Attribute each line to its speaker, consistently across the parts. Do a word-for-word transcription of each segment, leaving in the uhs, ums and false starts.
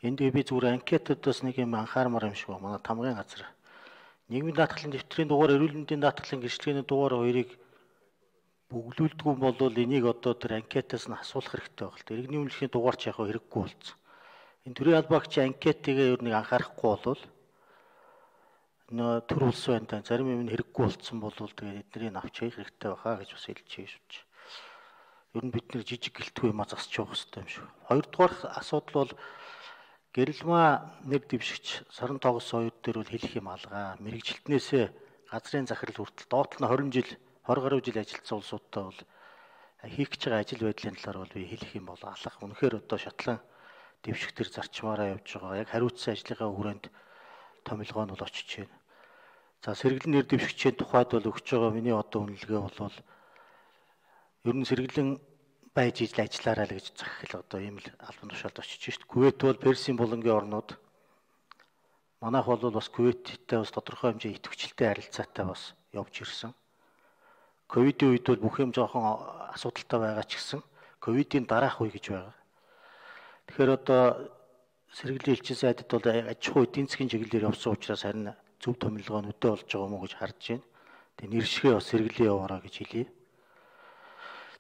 Speaker 1: Энд би зүгээр анкетуудаас нэг юм анхаармаар юм шиг байна. Манай тамгын газар. Нийгмийн даатгалын дэвтрийн дугаар, эрүүл мэндийн даатгалын гэрчлэгийн дугаар хоёрыг бүглүүлдэггүй бол энийг одоо тэр анкетаас нь асуулах хэрэгтэй байна л да. Иргэний үнэлгээний дугаарч яг хэрэггүй болсон. Энэ төрийн албаагч анкетигээ ер нь анхаарахгүй болвол нөө төр улс байна да. Зарим юм нь хэрэггүй болсон бол тэгээд эднийг авч хийх хэрэгтэй байхаа гэж бас хэлж шивч. Ер нь бид нэр жижиг гэлтгүй юм засч явах хэрэгтэй юм шиг. Хоёрдугаар асуудал бол гэрэлмаа нэр дэвшигч саран тогс хоёр дээр бол хэлэх юм алгаа. Мэргэжилтнээсээ газрын захирал хүртэл доотлол нь хорин жил двадцать гаруй жил ажилласан улсуудтай бол хийх гэж байгаа ажил байдлын талаар бол би хэлэх юм бол алах. Үнэхээр одоо шатлан дэвшигтэр зарчмаараа явж байгаа. Яг хариуцсан ажлынхаа хүрээнд томилгоо нь бол очиж байна. За сэргэлэн нэр дэвшигчийн тухайд бол өгч байгаа миний одоо үнэлгээ бол ер нь сэргэлэн байж ижил ажиллаарай л гэж захихэл одоо ийм л албан тушаалд очиж шít. Кувейт бол Персийн булангийн орнууд. Манайх бол бас Кувейттэй бас тодорхой хэмжээ идэвхжэлтэй харилцаатай бас явж ирсэн. Ковидын үед бол бүх юм жоохон асуудалтай байгаа ч гэсэн ковидын дараах үе гэж байгаа. Тэгэхээр одоо сэргэлийн элчин сайдад бол аж ахуй эдийн засгийн чиглэлээр явсан учраас харин зөв томилгоо нь өдөө болж байгаа юм уу гэж харж байна. Тэгээ нэршгээ бас сэргэлээ яваараа гэж хэлье.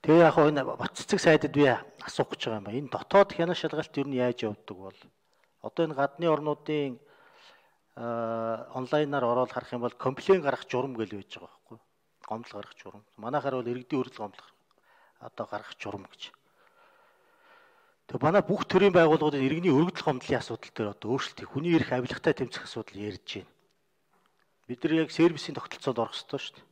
Speaker 1: Тэгээ яг энэ Батцэцэг сайдад би асуух гэж байгаа юм ба. Энэ дотоод хянах шалгалт юу нь яаж явдаг бол одоо энэ гадны орнуудын онлайнаар ороод харах юм бол комплейн гаргах журам гэж байж байгаа байхгүй. Гомдол гаргах журам. Манайхаар бол иргэдийн өргөл гомдол одоо гаргах журам гэж. Тэгээ манай бүх төрлийн байгууллагуудын иргэний өргөдөл гомдлын асуудал дээр одоо өөрчлөлт хүний эрх авилгатай тэмцэх асуудал ярьж байна. Бид нар яг сервисийн тогтолцоонд орох ёстой шүү дээ.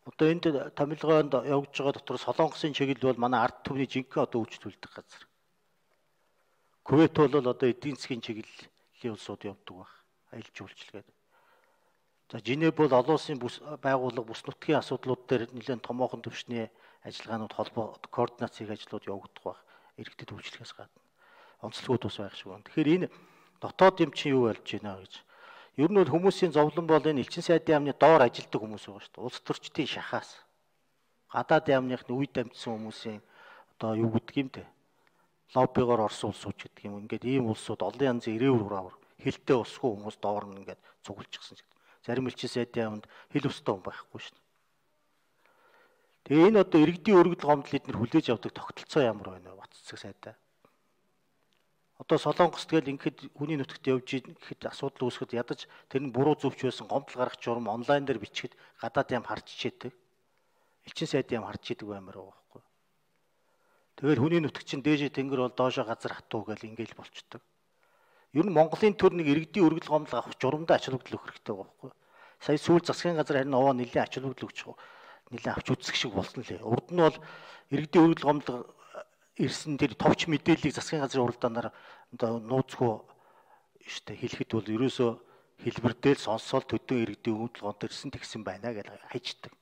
Speaker 1: Одоо энд томилгоонд явж байгаа дотор Солонгосын чиглэл бол манай ард түмний жинхэнэ одоо үйлчлүүлдэг газар. Кувейт бол одоо эдийн засгийн чиглэлийн улсууд явдаг баг. Аялал жуулчлал гэдэг. За Женев бол олон улсын бүс байгууллага бүс нутгийн асуудлууд дээр нэлээд томоохон түвшний ажиллагаанууд холбоо координац хийх ажлууд явагдах баг. Иргэдэд үйлчлэхээс гадна онцлогуд бас байх шиг байна. Тэгэхээр энэ дотоод юм чинь юу болж байна гэж. Ер нь бол хүмүүсийн зовлон бол энэ элчин сайдын яамны доор ажилтдаг хүмүүс байгаа шүү дээ. Улс төрчдийн шахаас гадаад яамныхны үед амьдсан хүмүүсийн одоо юу гэдэг юм те. Лоббигоор орсон улсууд гэдэг юм. Ингээд ийм улсууд олон янзын ирээвэр хураавар хилтэй усгүй хүмүүс доор нь ингээд цугулчихсан гэдэг. Зарим элчин сайдын яамд хил өстой хүн байхгүй шүү дээ. Тэгээ энэ одоо иргэдийн өргөдөл гомдол эднэр хүлээж авдаг тогтолцоо ямар байна вэ Батцэцэг сайдаа? Одоо Солонгос тэгэл ингээд хүний нутагт явж ихэд асуудал үүсгэхэд ядаж тэр нь буруу зөвч байсан гомдол гаргах журам онлайн дээр бичихэд гадаад яам харж ичээдэг. Элчин сайдын яам харж идэг баймаар байгаа байхгүй. Тэгэл хүний нутаг чинь дээшээ тэнгэр бол доошоо газар хатуу гэл ингээл болчдөг. Ер нь Монголын төр нэг иргэдийн өргөдөл гомдол авах журамдаа ач холбогдол өгөх хэрэгтэй байгаа байхгүй. Сая сүүл засгийн газар харин овоо нэлийн ач холбогдол өгч нэлээд авч үзэх шиг болсон лээ. Урд нь бол иргэдийн өргөдөл гомдол ирсэн тэр товч мэдээллийг засгийн газрын уралдаанаар одоо нууцгүй штэ хэлэхэд бол ерөөсөө хэлбэрдэл сонсоол төдөө иргэдийн өргөдөл гомдол ирсэн тэгсэн байна гэж хайчдаг.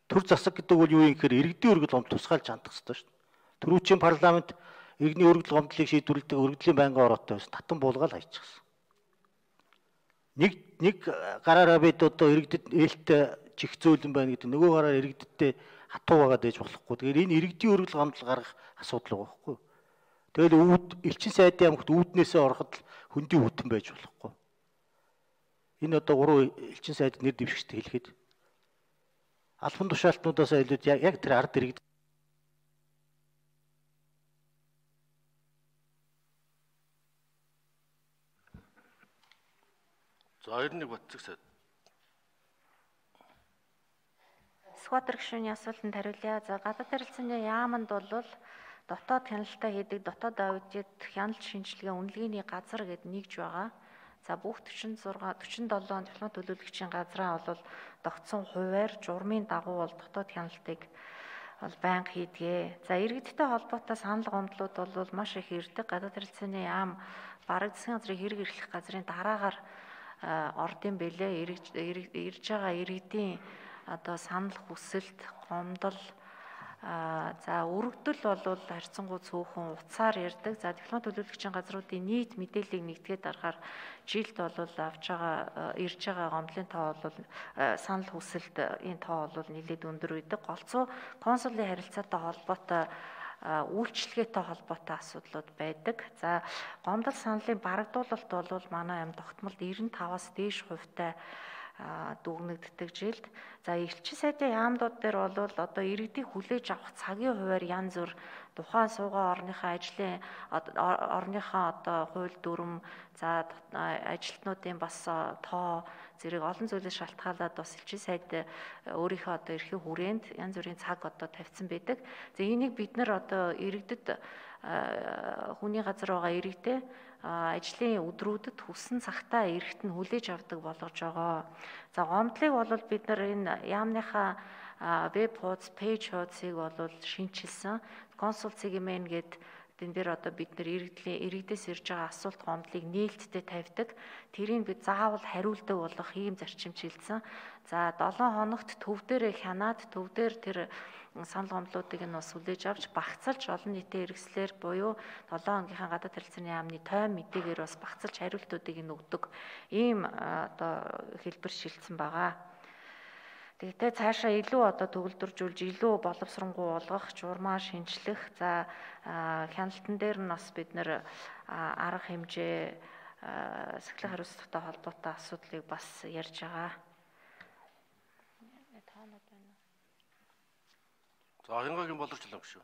Speaker 1: Төр засаг гэдэг бол юу юм гэхээр иргэдийн өргөдөл гомдол тусгаалж хандах хэрэгтэй штэ. Төрүүчийн парламент иргэний өргөдөл гомдлыг шийдвэрлэдэг өргөдлийн байнгын ороотой байсан татан буулгаал хайчихсан. Нэг нэг гараараа бид одоо иргэдэд ээлтэй чих зөөлөн байна гэдэг нөгөө гараар иргэдтэй хатуу байгаад ээж болохгүй. Тэгэхээр энэ иргэдийн өргөдөл гомдол гаргах асуудал байгаа байхгүй. Тэгэл үүд элчин сайдын яамд үүднээсээ ороход хөндий үүдэн байж болохгүй. Энэ одоо гурван элчин сайд нэр дэвшигчд хэлэхэд албан тушаалтнуудаас илүү яг тэр ард иргэд
Speaker 2: За хоёр нэг Батцэг сайд.
Speaker 3: Сквадр гишүүний асуултанд хариулъя. За гадаад харилцааны яамд бол дотоод хяналтаа хийдэг дотоод аудит хяналт шинжилгээ үнэлгээний газар гэд нэгж байгаа. За бүх46 47 дипломат төлөөлөгчийн газраа бол тогтсон хуваар журмын дагуу бол дотоод хяналтыг бол байнга хийдгээ. За иргэдтэй холбоотой санал гомдлууд бол маш их ирдэг. Гадаад харилцааны яам бараг засгийн газрын хэрэг эрхлэх газрын дараагаар ордын бэлээ ирж байгаа иргэдийн одоо санал хүсэлт гомдол за өргөдөл бол харьцангуй цөөхөн утсаар ярьдаг. За дипломат төлөөлөгчийн газруудын нийт мэдээллийг нэгтгээд дарахаар жилд бол авч байгаа ирж байгаа гомдлын тоо бол санал хүсэлт энэ тоо бол нэлээд өндөр байдаг. Голцоо консулын харилцаатай холбоотой үйлчлэгээтэй холбоотой асуудлууд байдаг. За гомдол саналын барагдуулалт бол манай юм тогтмолд девяносто таваас дээш хувьтай дүгнэгддэг жилд. За элчин сайдын яамдууд дээр бол одоо иргэдийг хүлээж авах цагийн хуваар янз бүр тухайн суугаа орныхаа ажлын орныхаа одоо хууль дүрм, за ажилтнуудын бас тоо зэрэг олон зүйлээс шалтгаалаад бас элчин сайд өөрийнхөө одоо эрхийн хүрээнд янз бүрийн цаг одоо тавьсан байдаг. За энийг бид нар одоо иргэдэд хүний газар байгаа иргэдээ ажлын өдрүүдэд хүссэн цагтаа эрэхт нь хүлээж авдаг болгож байгаа. За гомдлыг бол бид нар энэ яамныхаа веб хуудас, пэйж хуудсыг бол шинчилсэн. Консул цэгмэн гээд энэ дээр одоо бид нар иргэдлийн иргэдээс ирж байгаа асуулт гомдлыг нээлттэй тавьдаг. Тэрийг бид заавал хариулдаг болох ийм зарчим чиглэсэн. За долоон хоногт төв дээрээ хянаад төв дээр тэр санал гомдлуудыг нь бас хүлээж авч багцалж олон нийтийн хэрэгслэр буюу долоон хоногийн гадаад харилцааны яамны тойм мэдээгээр бас багцалж хариултуудыг нь өгдөг ийм одоо хэлбэр шилжсэн байгаа. Тэгтээ цаашаа илүү одоо төгөлдржүүлж илүү боловсронгуй болгох, журмаа шинжлэх, за хяналтан дээр нь бас бид нэр арга хэмжээ сахилгын хариуцлагатай холбоотой асуудлыг бас ярьж байгаа.
Speaker 2: За Хянгагийн боловсруулах шүү.